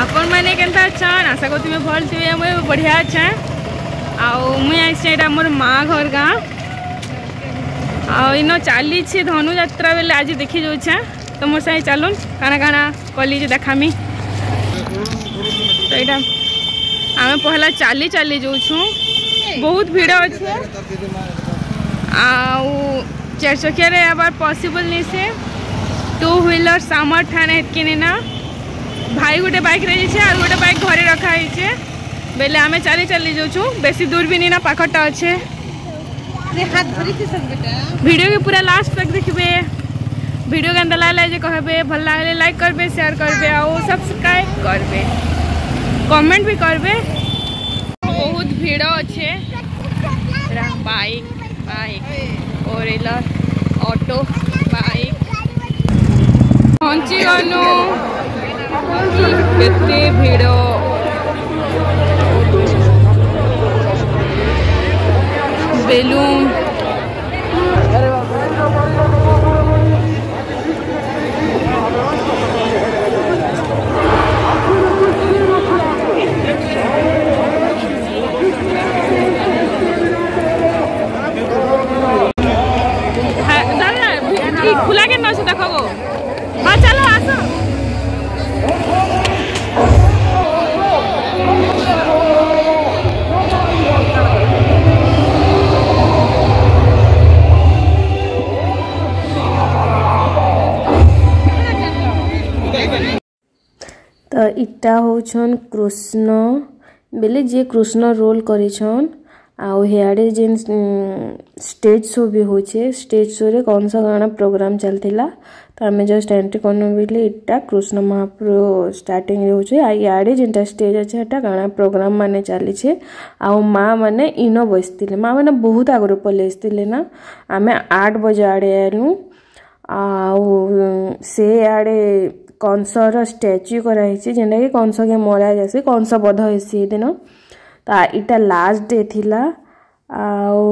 ଆପଣମାନେ କେନ୍ତା ଅଛନ୍? ଆଶା କରୁଥିବେ ଭଲ ଥିବେ। ମୁଇଁ ବଢ଼ିଆ ଅଛେ। ଆଉ ମୁଇଁ ଆସିଛେ ଏଇଟା ମୋର ମା ଘର ଗାଁ। ଆଉ ଇନ ଚାଲିছে ଧନୁଯାତ୍ରା ବେଲେ ଆଜି ଦେଖି ଯାଉଛେ। ତ ମୋର୍ ସାଙ୍ଗେ ଚାଲୁନ୍, କାଣା କାଣା କଲି ଯେ ଦେખાମି। ତ ଏଇଟା ଆମେ ପହଲା ଚାଲି ଚାଲି ଯାଉଛୁ, ବହୁତ ଭିଡ଼ ଅଛେ। ଆଉ ଚାରି ଚକିଆରେ ଆବାର ପସିବଲ୍ ନି ସେ, ଟୁ ହ୍ୱିଲର ସାମର ଠାନେ ହେତ୍କି ନି ନା। ଭାଇ ଗୋଟେ ବାଇକ୍ରେ ଯାଇଛେ ଆଉ ଗୋଟେ ବାଇକ୍ ଘରେ ରଖା ହେଇଛେ। ବେଲେ ଆମେ ଚାଲି ଚାଲି ଯାଉଛୁ, ବେଶୀ ଦୂର ବି ନି ନା, ପାଖଟା ଅଛେ। ଭିଡ଼ିଓ के पूरा लास्ट तक देखिए। वीडियो केंता लागला जे कहबे, भल लागले लाइक करबे, शेयर करबे और सब्सक्राइब करबे, कमेंट भी करबे। बहुत भीड़ अच्छे, bike bike four auto bike पहुंची गलु। केते भीड़, बेलून खुला के ना देखो। हाँ चलो आसो। ତ ଇଟା ହଉଛନ୍ କୃଷ୍ଣ ବେଲେ ଯିଏ କୃଷ୍ଣ ରୋଲ୍ କରିଛନ୍। ଆଉ ହିଆଡ଼େ ଯେନ୍ ଷ୍ଟେଜ୍ ଶୋ ବି ହଉଛେ, ଷ୍ଟେଜ୍ ଶୋରେ କଂସ ଗାଣା ପ୍ରୋଗ୍ରାମ୍ ଚାଲିଥିଲା। ତ ଆମେ ଜଷ୍ଟ ଏଣ୍ଟ୍ରି କନୁ ବେଲେ ଇଟା କୃଷ୍ଣ ମହାପ୍ରଭୁ ଷ୍ଟାର୍ଟିଂରେ ହଉଛେ। ଆଉ ଇଆଡ଼େ ଯେନ୍ଟା ଷ୍ଟେଜ୍ ଅଛେ ହେଟା ଗାଣା ପ୍ରୋଗ୍ରାମ୍ ମାନେ ଚାଲିଛେ। ଆଉ ମା ମାନେ ଇନ ବସିଥିଲେ, ମା ମାନେ ବହୁତ ଆଗରୁ ପଲେଇ ଆସିଥିଲେ ନା। ଆମେ 8 ବଜେ ଆଡ଼େ ଆଇଲୁ। ଆଉ ସେ ଆଡ଼େ କଂସର ଷ୍ଟାଚ୍ୟୁ କରାହେଇଛି, ଯେନ୍ଟାକି କଂସକେ ମରା ଯାଏସି, କଂସ ବଧ ହେସି ଦିନ। ତ ଇଟା ଲାଷ୍ଟ ଡେ ଥିଲା। ଆଉ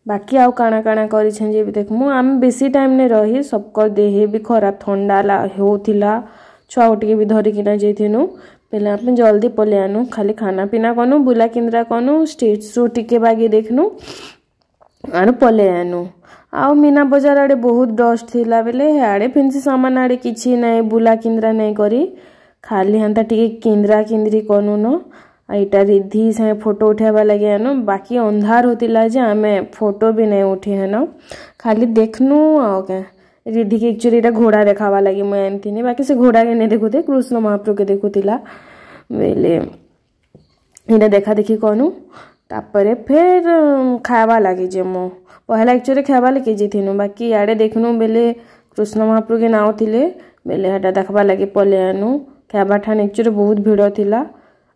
ବାକି ଆଉ କାଣା କାଣା କରିଛନ୍ ଯେ ବି ଦେଖମୁ। ଆମେ ବେଶୀ ଟାଇମ୍ ନାଇଁ ରହି, ସବକର୍ ଦେହ ବି ଖରାପ, ଥଣ୍ଡା ହେଉଥିଲା, ଛୁଆ ଟିକେ ବି ଧରିକିନା ଯାଇଥିନୁ। ବେଲେ ଆମେ ଜଲ୍ଦି ପଲେଇ ଆନୁ, ଖାଲି ଖାନା ପିନା କନୁ, ବୁଲା କିନ୍ଦ୍ରା କନୁ, ଷ୍ଟେଜ୍ ଶୋ ଟିକେ ବାଗି ଦେଖନୁ ଆରୁ ପଲେଇ ଆନୁ। ଆଉ ମୀନା ବଜାର ଆଡ଼େ ବହୁତ ଡଷ୍ଟ ଥିଲା ବେଲେ ଆଡ଼େ ଫେନ୍ସି ସାମାନ ଆଡ଼େ କିଛି ନାଇଁ, ବୁଲା କିନ୍ଦ୍ରା ନାଇଁ କରି ଖାଲି ହେନ୍ତା ଟିକେ କିନ୍ଦ୍ରା କିନ୍ଦ୍ରି କନୁନ। ଆଉ ଇଟା ରିଦ୍ଧି ସାଙ୍ଗେ ଫଟୋ ଉଠାଇବା ଲାଗି ଆନୁ। ବାକି ଅନ୍ଧାର ହଉଥିଲା ଯେ ଆମେ ଫଟୋ ବି ନାଇଁ ଉଠେଇ ହେନ, ଖାଲି ଦେଖନୁ। ଆଉ କାଁ ରିଦ୍ଧିକି ଆକ୍ଚୁଆଲି ଏଇଟା ଘୋଡ଼ା ଦେଖାବା ଲାଗି ମୁଇଁ ଆଣିଥିନି, ବାକି ସେ ଘୋଡ଼ାକେ ନାଇଁ ଦେଖୁଥେ, କୃଷ୍ଣ ମହାପ୍ରଭୁକେ ଦେଖୁଥିଲା। ବେଲେ ଏଇଟା ଦେଖା ଦେଖି କନୁ। ତାପରେ ଫେର୍ ଖାଇବା ଲାଗି ଯେ ମୁଁ ପହଲା ଆକ୍ଚୁଆଲି ଖାଇବା ଲାଗି ଯାଇଥିନୁ, ବାକି ଇଆଡ଼େ ଦେଖନୁ ବେଲେ କୃଷ୍ଣ ମହାପ୍ରଭୁକେ ନାଉଥିଲେ ବେଲେ ହେଟା ଦେଖବା ଲାଗି ପଲେଇ ଆନୁ। ଖାଇବା ଠାନ୍ ଆକ୍ଚୁଆଲି ବହୁତ ଭିଡ଼ ଥିଲା।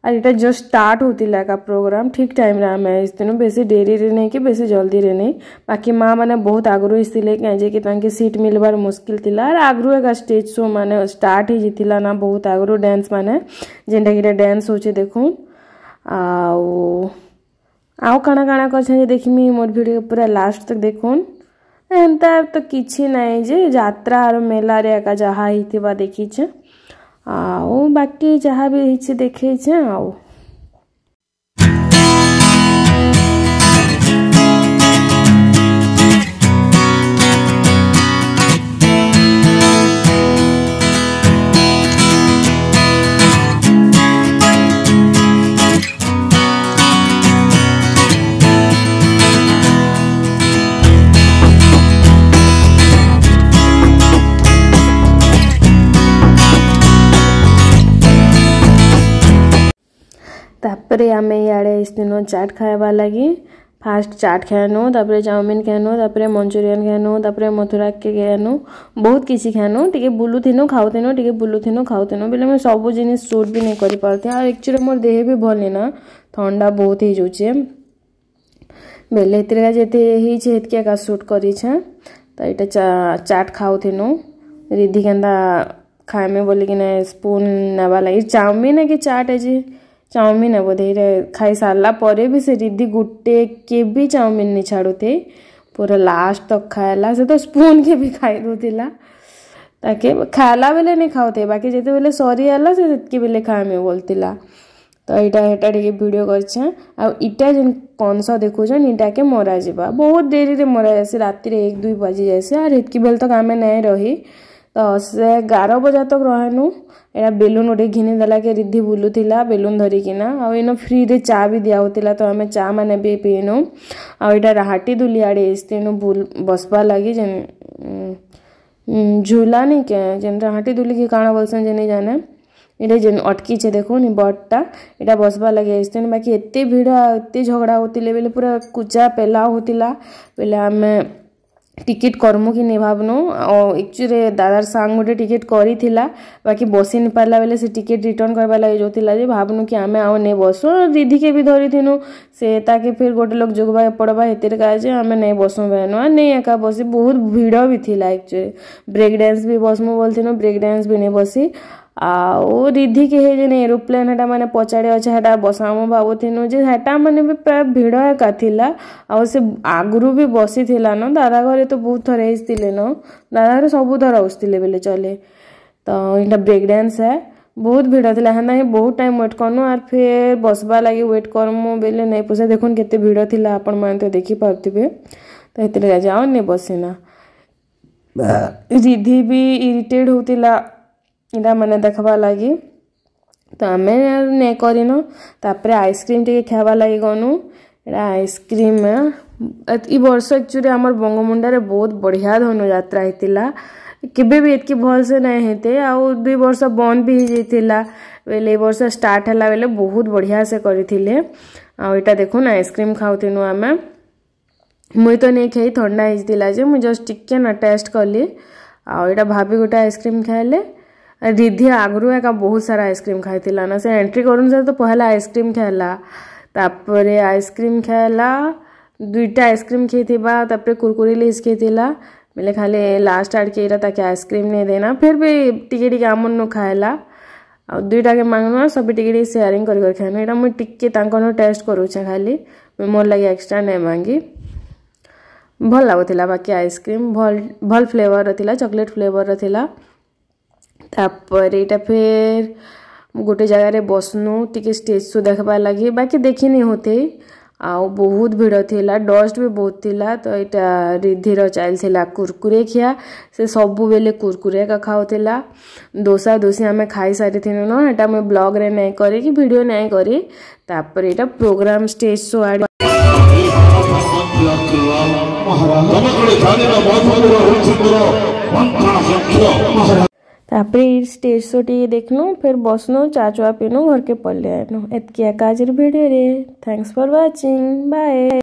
ଆଉ ଏଇଟା ଜଷ୍ଟ ଷ୍ଟାର୍ଟ ହଉଥିଲା ଏକା ପ୍ରୋଗ୍ରାମ୍, ଠିକ୍ ଟାଇମ୍ରେ ଆମେ ଆସିଥିନୁ, ବେଶୀ ଡେରିରେ ନାଇଁ କି ବେଶୀ ଜଲ୍ଦିରେ ନାଇଁ। ବାକି ମା ମାନେ ବହୁତ ଆଗରୁ ଆସିଥିଲେ, କାଁ କି ତାଙ୍କେ ସିଟ୍ ମିଲବାର ମୁସ୍କିଲ ଥିଲା। ଆର୍ ଆଗରୁ ଏକା ଷ୍ଟେଜ୍ ଶୋ ମାନେ ଷ୍ଟାର୍ଟ ହେଇଯାଇଥିଲା ନା ବହୁତ ଆଗରୁ, ଡ୍ୟାନ୍ସ ମାନେ ଯେନ୍ଟା କି ଡ୍ୟାନ୍ସ ହଉଛେ ଦେଖୁନ୍। ଆଉ ଆଉ କାଣା କାଣା କରିଛନ୍ ଯେ ଦେଖିମି, ମୋର୍ ଭିଡ଼ିଓ ପୁରା ଲାଷ୍ଟ ତକ୍ ଦେଖୁନ୍। ଏନ୍ତା ତ କିଛି ନାଇଁ ଯେ ଯାତ୍ରା ଆର୍ ମେଲାରେ ଏକା ଯାହା ହେଇଥିବା ଦେଖିଛେ, ଆଉ ବାକି ଯାହା ବି ହେଇଛି ଦେଖେଇଛେ। ଆଉ ତାପରେ ଆମେ ଇଆଡ଼େ ଆସିଥିନୁ ଚାଟ୍ ଖାଇବା ଲାଗି। ଫାଷ୍ଟ ଚାଟ୍ ଖାଇନୁ, ତାପରେ ଚାଉମିନ୍ ଖାଇନୁ, ତାପରେ ମଞ୍ଚୁରିଆନ୍ ଖାଇନୁ, ତାପରେ ମଥୁରା କେକ୍ ଖାଇନୁ, ବହୁତ କିଛି ଖାଇନୁ। ଟିକେ ବୁଲୁଥିନୁ ଖାଉଥିନୁ, ଟିକେ ବୁଲୁଥିନୁ ଖାଉଥିନୁ ବେଲେ ମୁଇଁ ସବୁ ଜିନିଷ୍ ସୁଟ୍ ବି ନାଇଁ କରିପାରୁଥି। ଆଉ ଆକ୍ଚୁଆଲି ମୋର୍ ଦେହ ବି ଭଲ୍ ନାଇଁ ନା, ଥଣ୍ଡା ବହୁତ ହେଇଯାଉଛେ। ବେଲେ ହେଥିରେ ଯେତେ ହେଇଛେ ହେତ୍କି ଏକା ସୁଟ୍ କରିଛେଁ। ତ ଏଇଟା ଚାଟ୍ ଖାଉଥିନୁ। ରିଦ୍ଧି କେନ୍ତା ଖାଇମି ବୋଲିକିନା ସ୍ପୁନ୍ ନେବା ଲାଗି ଚାଉମିନ୍ କି ଚାଟ୍ ଅଛି ଚାଉମିନ୍ ବୋଧେ, ଏଇଟା ଖାଇ ସାରିଲା ପରେ ବି ସେ ରିଦ୍ଧି ଗୁଟେ କେ ବି ଚାଉମିନ୍ ନି ଛାଡ଼ୁଥେ, ପୁରା ଲାଷ୍ଟ ତକ୍ ଖାଇଲା। ସେ ତ ସ୍ପୁନ୍ କେ ବି ଖାଇ ଦଉଥିଲା। ତାକେ ଖାଇଲା ବେଲେ ନାଇଁ ଖାଉथे, ବାକି ଯେତେବେଲେ ସରିଗଲା ସେ ସେତ୍କି ବେଲେ ଖାଇମି ବୋଲୁଥିଲା। ତ ଏଇଟା ହେଟା ଟିକେ ଭିଡ଼ିଓ କରିଛେଁ। ଆଉ ଇଟା ଯେନ୍ କଂସ ଦେଖୁଛନ୍, ଇଟାକେ ମରାଯିବା, ବହୁତ ଡେରିରେ ମରା ଯାଏସି, ରାତିରେ 1-2 ବାଜି ଯାଏସି। ଆର୍ ହେତ୍କି ବେଲ୍ ତକ୍ ଆମେ ନାଇଁ ରହି, ତ ସେ 11 ବଜା ତକ୍ ରହେନୁ। ଏଇଟା ବେଲୁନ୍ ଗୋଟେ ଘିନି ଦେଲା କେ ରିଦ୍ଧି ବୁଲୁଥିଲା ବେଲୁନ୍ ଧରିକିନା। ଆଉ ଇନ ଫ୍ରିରେ ଚା ବି ଦିଆ ହଉଥିଲା, ତ ଆମେ ଚା ମାନେ ବି ପିଇନୁ। ଆଉ ଏଇଟା ରାହାଟି ଦୁଲି ଆଡ଼େ ଆସିଥିନୁ ବସବା ଲାଗି, ଯେନ୍ ଝୁଲା ନି କେ, ଯେନ୍ ରାହାଟି ଦୁଲି କି କାଣା ବୋଲସନ୍ ଯେ ନାଇଁ ଜାନେ। ଏଇଟା ଯେନ୍ ଅଟକିଛେ ଦେଖୁନ୍ ବଡ଼ଟା, ଏଇଟା ବସବା ଲାଗି ଆସିଥିନୁ। ବାକି ଏତେ ଭିଡ଼ ଆଉ ଏତେ ଝଗଡ଼ା ହଉଥିଲେ ବେଲେ, ପୁରା କୁଚା ପେଲା ହଉଥିଲା ବେଲେ, ଆମେ ଟିକେଟ୍ କରମୁ କି ନାଇଁ ଭାବନୁ। ଆଉ ଏକ୍ଚୁଆଲି ଦାଦାର ସାଙ୍ଗ ଗୋଟେ ଟିକେଟ୍ କରିଥିଲା, ବାକି ବସି ନି ପାରିଲା ବେଲେ ସେ ଟିକେଟ୍ ରିଟର୍ନ କରବା ଲାଗି ଯାଉଥିଲା ଯେ ଭାବନୁ କି ଆମେ ଆଉ ନାଇଁ ବସୁ। ରିଧିକେ ବି ଧରିଥିନୁ, ସେ ତାକେ ଫିର୍ ଗୋଟେ ଲୋକ ଯୋଗବାକେ ପଡ଼ବା, ହେଥିର୍ କାଜେ ଆମେ ନାଇଁ ବସୁ ବେନୁ। ଆଉ ନାଇଁ ଏକା ବସି, ବହୁତ ଭିଡ଼ ବି ଥିଲା ଆକ୍ଚୁଆଲି। ବ୍ରେକ୍ ଡ୍ୟାନ୍ସ ବି ବସମୁ ବୋଲଥିନୁ, ବ୍ରେକ୍ ଡ୍ୟାନ୍ସ ବି ନାଇଁ ବସି। ଆଉ ରିଧିକେ ହେ ଯେନ୍ ଏରୋପ୍ଲେନ୍ ହେଟା ମାନେ ପଛାଡ଼େ ଅଛେ, ହେଟା ବସାମୁ ଭାବୁଥିନୁ ଯେ ହେଟା ମାନେ ବି ପ୍ରାୟ ଭିଡ଼ ଏକା ଥିଲା। ଆଉ ସେ ଆଗରୁ ବି ବସିଥିଲା ନ, ଦାଦା ଘରେ ତ ବହୁତ ଥର ଆସିଥିଲେ ନ, ଦାଦା ଘରେ ସବୁ ଥର ଆସୁଥିଲେ ବେଲେ ଚଲେ। ତ ଏଇଟା ବ୍ରେକ୍ ଡ୍ୟାନ୍ସ ହେ, ବହୁତ ଭିଡ଼ ଥିଲା, ହେନ୍ତା ହିଁ ବହୁତ ଟାଇମ୍ ୱେଟ୍ କନୁ। ଆର୍ ଫେର୍ ବସବା ଲାଗି ୱେଟ୍ କରମୁ ବେଲେ ନାଇଁ ପୋଷା। ଦେଖୁନ୍ କେତେ ଭିଡ଼ ଥିଲା, ଆପଣମାନେ ତ ଦେଖିପାରୁଥିବେ। ତ ହେଥିର୍ ଆଉ ନାଇଁ ବସିନା। ରିଧି ବି ଇରିଟେଟ୍ ହଉଥିଲା ଏଇଟା ମାନେ ଦେଖବା ଲାଗି, ତ ଆମେ ନାଇଁ କରିନୁ। ତାପରେ ଆଇସ୍କ୍ରିମ୍ ଟିକେ ଖାଇବା ଲାଗି ଗନୁ। ଏଇଟା ଆଇସ୍କ୍ରିମ୍। ଇ ବର୍ଷ ଆକ୍ଚୁଆଲି ଆମର ବଙ୍ଗୋମୁଣ୍ଡାରେ ବହୁତ ବଢ଼ିଆ ଧନୁଯାତ୍ରା ହେଇଥିଲା, କେବେ ବି ଏତ୍କି ଭଲସେ ନାଇଁ ହେଇତେ। ଆଉ 2 ବର୍ଷ ବନ୍ଦ ବି ହେଇଯାଇଥିଲା ବେଲେ, ଏ ବର୍ଷ ଷ୍ଟାର୍ଟ ହେଲା ବେଲେ ବହୁତ ବଢ଼ିଆ ସେ କରିଥିଲେ। ଆଉ ଏଇଟା ଦେଖୁନ୍, ଆଇସ୍କ୍ରିମ୍ ଖାଉଥିନୁ ଆମେ। ମୁଇଁ ତ ନେଇ ଖାଇ, ଥଣ୍ଡା ହେଇଥିଲା ଯେ ମୁଇଁ ଜଷ୍ଟ ଟିକେ ନା ଟେଷ୍ଟ କଲି। ଆଉ ଏଇଟା ଭାବି ଗୋଟେ ଆଇସ୍କ୍ରିମ୍ ଖାଇଲେ। ରିଧି ଆଗରୁ ଏକା ବହୁତ ସାରା ଆଇସ୍କ୍ରିମ୍ ଖାଇଥିଲା ନା, ସେ ଏଣ୍ଟ୍ରି କରୁନ୍ ତ ପହଲା ଆଇସ୍କ୍ରିମ୍ ଖାଇଲା। ତାପରେ ଆଇସ୍କ୍ରିମ୍ ଖାଇଲା, ଦୁଇଟା ଆଇସ୍କ୍ରିମ୍ ଖାଇଥିବା, ତାପରେ କୁରକୁରି ଲେସ୍ ଖାଇଥିଲା ବେଲେ, ଖାଲି ଲାଷ୍ଟ ଆଡ଼କେ ଏଇଟା ତାକେ ଆଇସ୍କ୍ରିମ୍ ନେଇ ଦେନା। ଫିର୍ ବି ଟିକେ ଟିକେ ଆମର୍ନୁ ଖାଇଲା, ଆଉ ଦୁଇଟାକେ ମାଗନୁ, ସବୁ ଟିକେ ଟିକେ ସେୟାରିଂ କରି କରି ଖାଇନୁ। ଏଇଟା ମୁଇଁ ଟିକେ ତାଙ୍କନୁ ଟେଷ୍ଟ କରୁଛେ ଖାଲି, ମୋର୍ ଲାଗି ଏକ୍ସଟ୍ରା ନାଇଁ ମାଗି। ଭଲ ଲାଗୁଥିଲା ବାକି ଆଇସ୍କ୍ରିମ୍, ଭଲ୍ ଭଲ୍ ଫ୍ଲେଭର୍ର ଥିଲା, ଚକୋଲେଟ୍ ଫ୍ଲେଭର୍ର ଥିଲା। ତାପରେ ଏଇଟା ଫେର୍ ଗୋଟେ ଜାଗାରେ ବସ୍ନୁ ଟିକେ ଷ୍ଟେଜ୍ ଶୋ ଦେଖ୍ବାର୍ ଲାଗି, ବାକି ଦେଖିନି ହଉଥେ, ଆଉ ବହୁତ ଭିଡ଼ ଥିଲା, ଡଷ୍ଟ ବି ବହୁତ ଥିଲା। ତ ଏଇଟା ରିଧିର ଚାଲିଥିଲା କୁରକୁରେ ଖିଆ, ସେ ସବୁବେଲେ କୁରକୁରେ ଏକା ଖାଉଥିଲା। ଦୋସା ଦୋସି ଆମେ ଖାଇ ସାରିଥିନୁ ନ, ହେଟା ମୁଇଁ ବ୍ଲଗ୍ରେ ନାଇଁ କରି କି ଭିଡ଼ିଓ ନାଇଁ କରି। ତାପରେ ଏଇଟା ପ୍ରୋଗ୍ରାମ ଷ୍ଟେଜ୍ ଶୋ ଆଡ଼େ। ତାପରେ ଇ ଷ୍ଟେଜ୍ ଶୋ ଟିକେ ଦେଖନୁ, ଫେର୍ ବସ୍ନୁ, ଚା ଚୁଆ ପିନୁ, ଘରକେ ପଲେଇ ଆଇନୁ। ଏତ୍କି ଏକା ଆଜିର ଭିଡ଼ିଓରେ। Thanks for watching, bye.